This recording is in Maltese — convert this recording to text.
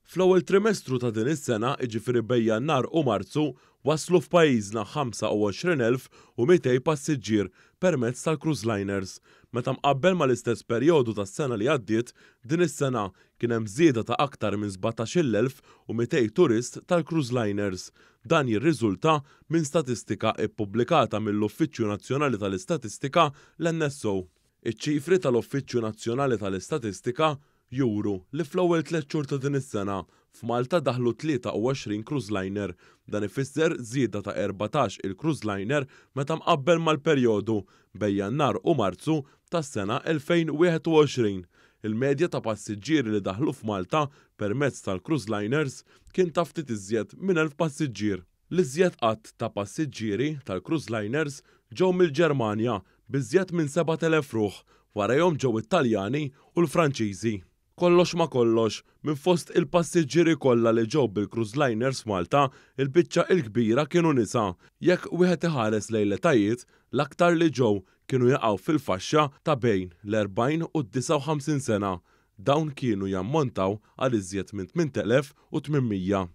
Fl-ewwel trimestru ta' din is-sena, jiġifieri bejn Jannar u Marzu, waslu f'pajjiżna 25,200 passiġġier permezz tal-cruise liners. Meta mqabbel mal-istess perjodu tas-sena li għaddiet, din is-sena kien hemm żieda ta' aktar minn 17,200 turist tal-cruise liners. Dan jirriżulta minn statistika ppubblikata mill-Uffiċċju Nazzjonali tal-Istatistika, l-NSO. Iċ-ċifri tal-Uffiċċju Nazzjonali tal-Istatistika juru li fl-ewwel tlett xhur ta' din is-sena, f'Malta daħlu 23 cruise liner. Dan ifisser żieda ta' 14 il cruise liner meta mqabbel mal-perjodu bejn Jannar u Marzu tas-sena 2021. Il-medja ta' passiġġieri li daħlu f'Malta permezz tal-cruise liners kien ta' ftit iżjed minn 1,000 passiġġier. L-iżjed għadd ta' passiġġieri tal-cruise liners ġew mill-Ġermanja b'iżjed minn 7,000 ruħ, warajhom ġew it-Taljani u l-Franċiżi. Kollox ma' kollox, minn fost il-passiġġieri kollha li ġew bil-cruise liners f'Malta, il-biċċa l-kbira kienu nisa. Jekk wieħed iħares lejn l-etajiet, l-aktar li ġew kienu jaqgħu fil-faxxa ta' bejn l-40 u d-59 sena. Dawn kienu jammontaw għal iżjed minn 8,800.